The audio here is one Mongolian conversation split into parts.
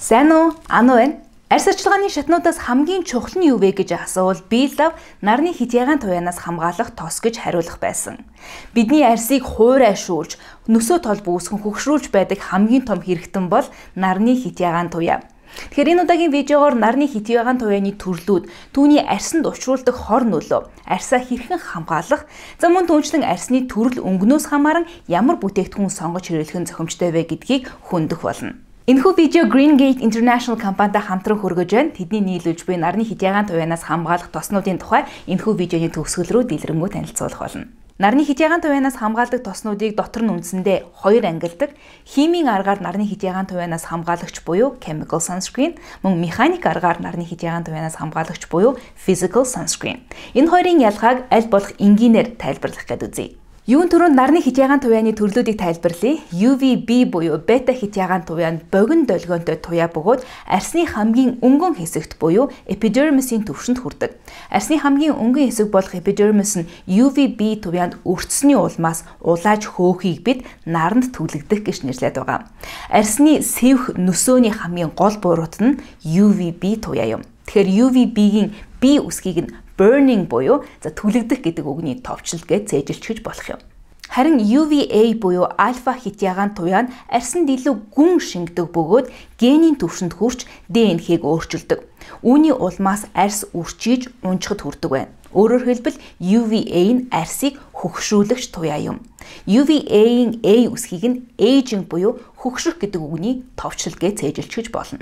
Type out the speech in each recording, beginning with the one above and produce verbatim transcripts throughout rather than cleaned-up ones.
Сайн уу? Ано байна. Арьс арчилгааны шатнуудаас хамгийн чухал нь юу вэ гэж асуувал би лав нарны хитягаан туяанаас хамгаалах тос гэж хариулах байсан. Бидний арьсыг хуурайшуулж, нөсөө тол бүүсгэн хөгшрүүлж байдаг хамгийн том хэрэгтэн бол нарны хитягаан туяа. Тэгэхээр энэ удаагийн видеогоор нарны хитягаан туяаны төрлүүд, түүний арьсанд учруулдаг хор нөлөө, арьсаа хэрхэн хамгаалах, за мөн түүнчлэн арьсны төрөл өнгнөөс хамааран ямар бүтээгдэхүүн сонгож хэрэглэх нь зохимжтой вэ гэдгийг хөндөх болно. Энэхүү видео Green Gate International компанитай хамтран хүргэж байна. Тэдний нийлүүлж буй нарны хитягаан туяанаас хамгаалах тоснуудын тухай энэхүү видеоны төгсгөл рүү дэлгэрэнгүй танилцуулах болно. Нарны хитягаан туяанаас хамгаалдаг тоснуудыг дотор нь үндсэндээ хоёр ангилдаг. Химийн аргаар нарны хитягаан туяанаас хамгаалагч буюу chemical sunscreen, мөн механик аргаар нарны хитягаан туяанаас хамгаалагч буюу physical sunscreen. Энэ хоёрын ялгааг аль болох энгийнээр тайлбарлах гээд үзье. Юун түрүүнд нарны хитягаан туяаны төрлүүдийг тайлбарлая. ю ви би буюу бета хитягаан туяа нь богино долгионтой туяа бөгөөд арьсны хамгийн өнгөн хэсэгт буюу эпидермисийн түвшинд хүрдэг. Арьсны хамгийн өнгөн хэсэг болох эпидермис нь ю ви би туяанд өртсөний улмаас улааж хөөхийг бид наранд түлэгдэх гэж нэрлэдэг байгаа. Арьсны сэвх нөсөөний хамгийн гол буруут нь ю ви би туяа юм. Тэгэхээр ю ви би-гийн B үсгийг нь burning буюу за түлэгдэх гэдэг үгний товчлол гэж цээжилчихэж болох юм. Харин ю ви эй буюу альфа хитягаан туяа нь арьсанд илүү гүн шингэдэг бөгөөд генийн түвшинд хүрч ди эн эх-г өөрчилдөг. Үүний улмаас арьс үрчиж унжихад хүрдэг байна. Өөрөөр хэлбэл ю ви эй нь арьсыг хөгшрүүлэгч туяа юм. ю ви эй-ийн A үсгийг нь aging буюу хөгшрөх гэдэг үгний товчлол гэж цээжилчихэж болно.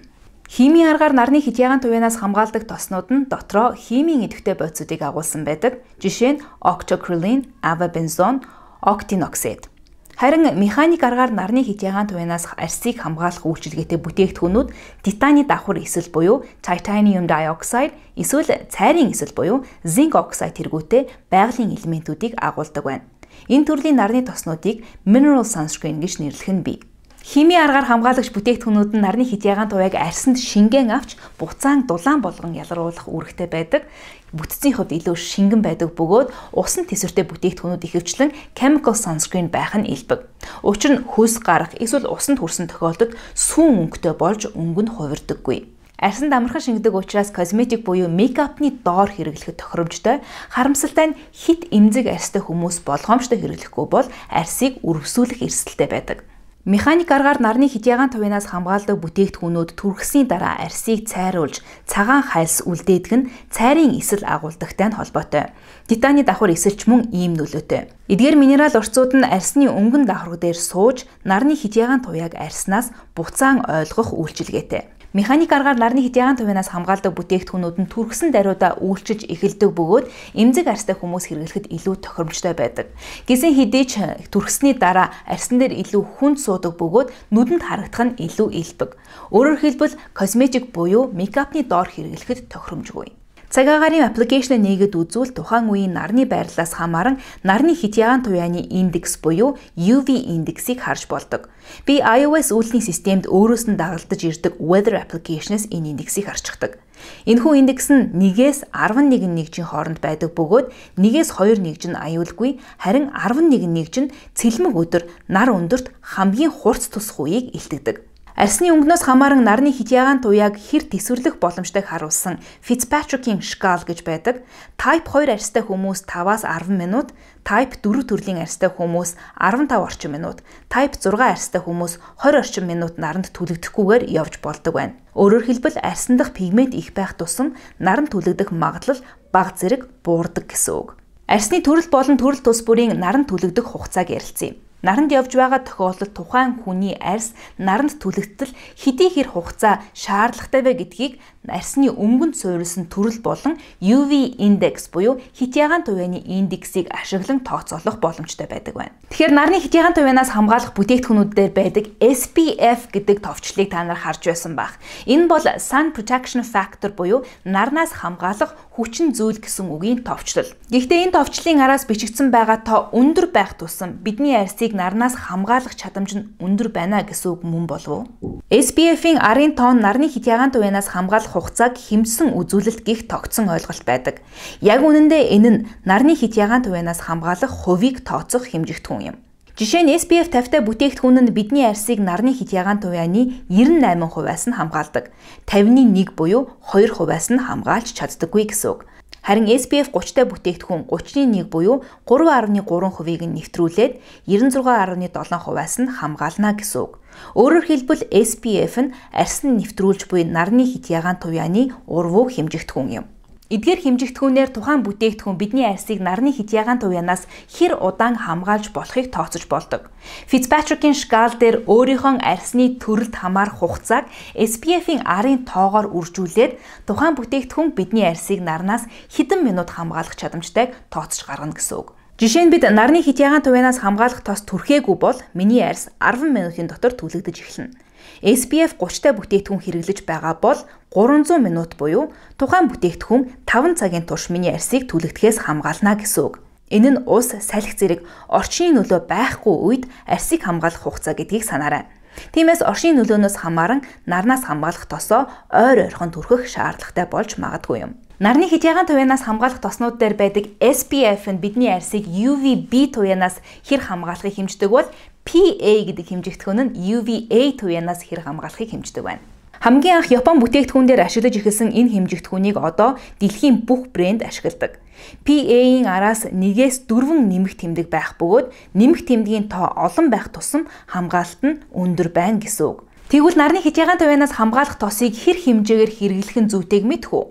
Химийн аргаар нарны хитягаан туяанаас хамгаалдаг тоснууд нь дотроо химийн идэвхтэй бодисуудыг агуулсан байдаг. Жишээ нь octocrylene, avobenzone, octinoxate. Харин механик аргаар нарны хитягаан туяанаас арьсыг хамгаалах үйлчилгээтэй бүтээгдэхүүнүүд титаны давхар эсэл буюу titanium dioxide, эсвэл цайрын эсэл буюу zinc oxide тэргүүтэй байгалийн элементүүдийг агуулдаг байна. Энэ төрлийн нарны тоснуудыг mineral sunscreen гэж нэрлэх нь бий. Химийн аргаар хамгаалагч бүтээгдэхүүнүүд нь нарны хитягаан туяаг арьсанд шингэн авч буцаан дулаан болгон ялруулах үүрэгтэй байдаг. Бүтцийн хувьд илүү шингэн байдаг бөгөөд усан тэсвэртэй бүтээгдэхүүнүүд ихэвчлэн chemical sunscreen байх нь илбэг. Учир нь хөлс гарах эсвэл усанд хүрсэн тохиолдолд сүүн өнгөтэй болж өнгө нь хувирдаггүй. Арьсанд амархан шингэдэг учраас косметик буюу мейкапны доор хэрэглэхэд тохиромжтой. Харамсалтай нь хит эмзэг арьстай хүмүүс болгоомжтой хэрэглэхгүй бол арьсыг үрвсүүлэх эрсдэлтэй байдаг. Механик аргаар нарны хитягаан туяанаас хамгаалдаг бүтээгдэхүүнүүд түрхсний дараа арьсыг цайруулж цагаан хайлс үлдээдэг нь цайрын эсэл агуулдагтай нь холбоотой. Титаны давхар эсэлч мөн ийм нөлөөтэй. Эдгээр минерал уртсууд нь арьсны өнгөн давхарг дээр сууж нарны хитягаан туяаг арьснаас буцаан ойлгох үйлчилгээтэй. Механик аргаар нарны хитягаан туяанаас хамгаалдаг бүтээгдэхүүнүүд нь түрхсэн даруйдаа үйлчилж эхэлдэг бөгөөд эмзэг арьстай хүмүүс хэрэглэхэд илүү тохиромжтой байдаг. Гэсэн хэдий ч түрхсний дараа арьсан дээр илүү хүнд суудаг бөгөөд нүдэнд харагдах нь илүү илбэг. Өөрөөр хэлбэл косметик буюу мейкапны доор хэрэглэхэд тохиромжгүй. Цагаагарын аппликейшн нээгээд үзвэл тухайн үеийн нарны байрлалаас хамааран нарны хитягаан туяаны индекс буюу ю ви индексийг харж болдог. Би iOS үйлдвэрлэлийн системд өөрөөс нь дагалдаж ирдэг weather application-ээс энэ индексийг харчдаг. Энэхүү индекс нь нэгээс арван нэг нэгжийн хооронд байдаг бөгөөд нэгээс хоёр нэгж нь аюулгүй, харин арван нэг нэгж нь цэлмэг өдөр нар өндөрт хамгийн хурц тусах үеийг илтгэдэг. Арьсны өнгнөөс хамааран нарны хитягаан туяаг хэр тэсвэрлэх боломжтойг харуулсан Fitzpatrick-ийн шкал гэж байдаг. Type хоёр арьстай хүмүүс таваас арван минут, Type дөрөв төрлийн арьстай хүмүүс арван тав орчим минут, Type зургаан арьстай хүмүүс хорь орчим минут наранд түлэгдэхгүйгээр явж болдог байна. Өөрөөр хэлбэл арьсан дахь пигмент их байх тусам наранд түлэгдэх магадлал бага зэрэг буурдаг гэсэн үг. Арьсны төрөл болон төрөл тус бүрийн наранд түлэгдэх хугацааг ярилцъя. Наранд явж байгаа тохиолдолд тухайн хүний арьс наранд түлэгдэл хэдий хэр хугацаа шаардлагатай вэ гэдгийг арьсны өнгөнд суурилсан төрөл болон ю ви индекс буюу хитягаан туяаны индексийг ашиглан тооцоолох боломжтой байдаг байна. Тэгэхээр нарны хитягаан туяанаас хамгаалах бүтээгдэхүүнүүдээр байдаг эс пи эф гэдэг товчлыг та нар харж байсан байх. Энэ бол Sun Protection Factor буюу нарнаас хамгаалах хүчин зүйл гэсэн үгийн товчлол. Гэхдээ энэ товчлын араас бичигдсэн байгаа тоо өндөр байх тусам бидний арьсыг нарнаас хамгаалах чадамж нь өндөр байна гэсэн үг мөн болов уу? эс пи эф-ийн арын тоон нарны хитягаан туяанаас хамгаалах хугацааг хэмсэн үзүүлэлт гих тогтсон ойлголт байдаг. Яг үнэндээ энэ нь нарны хитягаан туяанаас хамгаалах хувийг тооцох хэмжигдэхүүн юм. Жишээ нь эс пи эф тавьтай бүтээгдэхүүн нь бидний арсыг нарны хитягаан туяаны девяносто восемь хувиас нь хамгаалдаг. пятьдесят один буюу two хувиас нь хамгаалж чаддаггүй гэсэн үг. Харин эс пи эф thirty-тай бүтээгдэхүүн thirty-one буюу three point three хувийг нь нэвтрүүлээд ninety-six point seven хувиас нь хамгаална гэсэн үг. Өөрөөр хэлбэл эс пи эф нь арс нь нэвтрүүлж буй нарны хитягаан туяаны урвуу хэмжигдэхүүн юм. Эдгээр хэмжигдэхүүнээр тухайн бүтээгдэхүүн бидний арсыг нарны хитягаан туяанаас хэр удаан хамгаалж болохыг тооцож болдог. Fitzpatrick-ийн шкал дээр өөрийнхөө арсны төрөлд хамаарах хугацааг эс пи эф-ийн арын тоогоор үржүүлээд тухайн бүтээгдэхүүн бидний арсыг нарнаас хэдэн минут хамгаалах чадамжтайг тооцож гаргана гэсэн үг. Жишээ нь бид нарны хитягаан туяанаас хамгаалах тос түрхээгүй бол миний арс ten минутын дотор түлэгдэж эхэлнэ. эс пи эф thirty-тай бүтээгдэхүүн хэрэглэж байгаа бол three hundred минут буюу тухайн бүтээгдэхүүн five цагийн турш миний арсыг түлэгдэхээс хамгаална гэсэн үг. Энэ нь ус, салхи зэрэг орчны нөлөө байхгүй үед арсыг хамгаалах хугацаа гэдгийг санаарай. Тиймээс орчны нөлөөнөөс хамааран нарнаас хамгаалах тосоо ойр ойрхон түрхэх шаардлагатай болж магадгүй юм. Нарны хитягаан туяанаас хамгаалах тоснууд дээр байдаг эс пи эф нь бидний арсыг ю ви би туяанаас хэр хамгаалахыг хэмждэг бол пи эй гэдэг хэмжигдэхүүн нь ю ви эй туяанаас хэр хамгаалахыг хэмждэг байна. Хамгийн анх Япон бүтээгдэхүүн дээр ашиглаж эхэлсэн энэ хэмжигдэхүүнийг одоо дэлхийн бүх брэнд ашигладаг. пи эй-ийн араас нэгээс дөрвөн нэмэх тэмдэг байх бөгөөд нэмэх тэмдгийн тоо олон байх тусам хамгаалалт нь өндөр байна гэсэн үг. Тэгвэл нарны хитягаан туяанаас хамгаалах тосыг хэр хэмжээгээр хэрэглэх нь зүйтэйг мэдэх үү?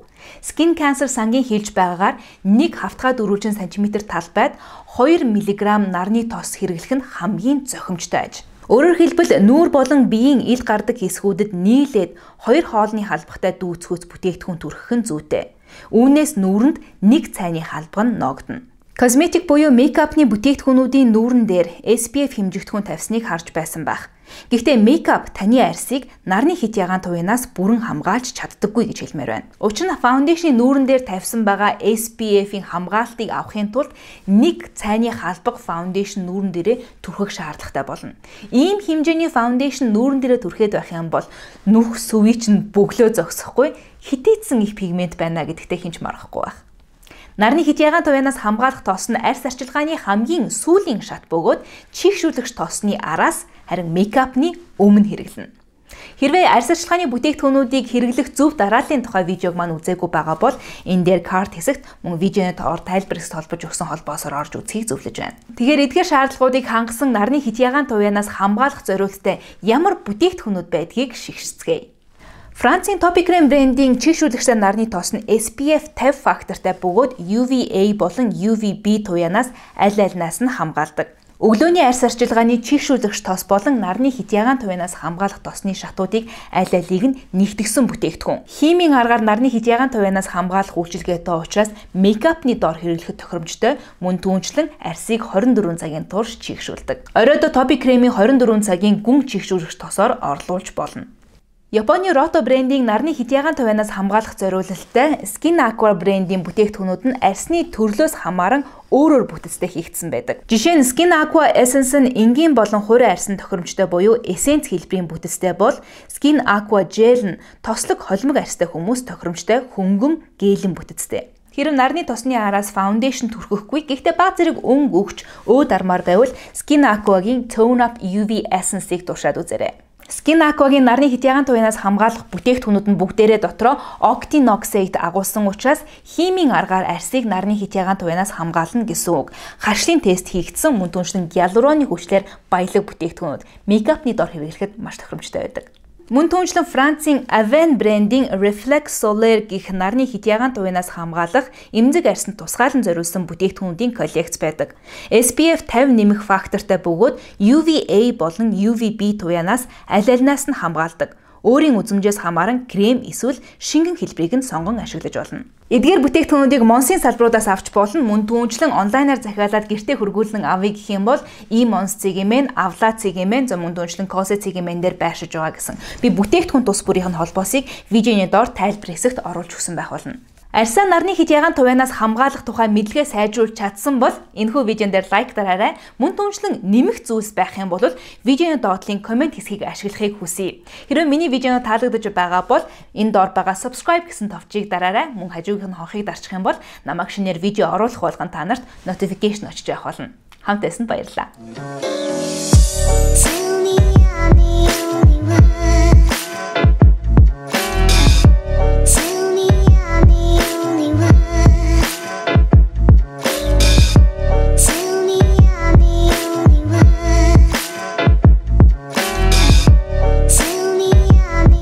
Skin Cancer сангийн хэлж байгаагаар нэг хавтгай дөрвөлжин сантиметр талбайд two миллиграмм нарны тос хэрэглэх нь хамгийн зохимжтой аж. Өөрөөр хэлбэл нүүр болон биеийн ил гардаг хэсгүүдэд нийлээд хоёр хоолны халбагтай дүүцхүүц бүтээгдэхүүн түрхэх нь зүйтэй. Үүнээс нүүрэнд нэг цайны халбаг нь ногдно. Косметик буюу мейкапны бүтээгдэхүүнүүдийн нүүрэн дээр эс пи эф хэмжигдэхүүн тавьсныг харж байсан байх. Гэхдээ мейкап таны арсыг нарны хитягаан туяанаас бүрэн хамгаалж чаддаггүй гэж хэлмээр байна. Учир нь фаундейшны нүүрэн дээр тавьсан байгаа эс пи эф-ийн хамгаалтыг авахын тулд нэг цайны халбаг фаундейшн нүүрэн дээрээ түрхэх шаардлагатай болно. Ийм хэмжээний фаундейшн нүүрэн дээрээ түрхээд байх юм бол нүх сүвий чинь бөглөө зогсохгүй хитээдсэн их пигмент байна гэдэгтээ хинч марахгүй байх. Нарны хитягаан туяанаас хамгаалах тос нь арс арчилгааны хамгийн сүүлийн шат бөгөөд чихшүүлэгч тосны араас харин мейкапны өмнө хэрэглэнэ. Хэрвээ арс арчилгааны бүтээгдэхүүнүүдийг хэрэглэх зөв дарааллын тухай видеог маань үзээгүй байгаа бол энэ дээр карт хэсэгт мөн видеоны доор тайлбар хэсэгт холбож өгсөн холбоосоор орж үзхийг зөвлөж байна. Тэгэхээр эдгээр шаардлагуудыг хангасан нарны хитягаан туяанаас хамгаалах зорилттой ямар бүтээгдэхүүнүүд байдгийг шигшцгээе. Францын Topi Creme брендийн чихшүүлэгчтэй нарны тос нь эс пи эф fifty фактортай бөгөөд ю ви эй болон ю ви би туяанаас аль альнаас нь хамгаалдаг. Өглөөний арс арчилгааны чихшүүлэгч тос болон нарны хитягаан туяанаас хамгаалах тосны шатуудыг аль алийг нь нэгтгэсэн бүтээгдэхүүн. Химийн аргаар нарны хитягаан туяанаас хамгаалах үйлчилгээтэй учраас мейкапны доор хэрэглэхэд тохиромжтой, мөн түүнчлэн арсыг twenty-four цагийн турш чихшүүлдэг. Оройдоо Topi Creme-ийн twenty-four цагийн гүн чихшүүлэгч тосоор орлуулж болно. Японы Roto брендийн нарны хитягаан туяанаас хамгаалах зориулалттай Skin Aqua брендийн бүтээгдэхүүнүүд нь арсны төрлөөс хамааран өөрөөр бүтэцтэй хийгдсэн байдаг. Жишээ нь Skin Aqua Essence нь энгийн болон хурийн арсан тохиромжтой буюу эссенц хэлбэрийн бүтэцтэй бол Skin Aqua Gel нь тослог холимог арстай хүмүүс тохиромжтой хөнгөн гээлэн бүтэцтэй. Хэрэв нарны тосны араас фаундейшн түрхэхгүй гэхдээ баг зэрэг өнгө өгч өөд армаар байвал Skin Aqua-гийн Tone Up ю ви Essence-ийг туршаад үзээрэй. Skin Aqua-гийн нарны хитягаан туяанаас хамгаалах бүтээгдэхүүнүүд нь бүгдээрээ дотроо octinoxate агуулсан учраас химийн аргаар арсыг нарны хитягаан туяанаас хамгаална гэсэн үг. Харшлын тест хийгдсэн мөн түншлэн гиалуроны хүчлээр баялаг бүтээгдэхүүнүүд мейкапны дор хэрэглэхэд маш тохиромжтой байдаг. Мөн түншлэн Францын Avène брендийн Reflex Solaire гэх нарны хитягаан туяанаас хамгаалах эмзэг арсанд тусгаалan зориулсан бүтээгдэхүүнүүдийн коллекц байдаг. эс пи эф fifty нэмэх фактортай бөгөөд ю ви эй болон ю ви би туяанаас аль альнаас нь хамгаалдаг. Өөрийн үзмжээс хамааран крем эсвэл шингэн хэлбэрийг нь сонгон ашиглаж болно. Эдгээр бүтээгдэхүүнүүдийг Монсын салбаруудаас авч болно. Мөн түүнчлэн онлайнаар захиалаад гэртээ хөргүүлэн авъя гэх юм бол e-mons цэгийн, авла цэгийн, зөв мөн түүнчлэн косе цэгийн дээр байршиж байгаа гэсэн. Би бүтээгдэхүүн тус бүрийн холбоосыг видеоны доор тайлбар хэсэгт оруулж өгсөн байх болно. Арсаа нарны хитягаан туяанаас хамгаалах тухай мэдлэгээ сайжруулж чадсан бол энэхүү видеон дээр лайк дараарай. Мөн түншлэн нэмэх зүйлс байх юм бол видеоны доотлын комент хэсгийг ашиглахыг хүсье. Хэрвээ миний видео таалагдж байгаа бол энэ доор байгаа subscribe гэсэн товчийг дараарай. Мөн хажуугийнх нь хонхыг дарчих юм бол намайг шинээр видео оруулах болгон та нарт notification очиж явах болно. Хамт байсанд баярлалаа.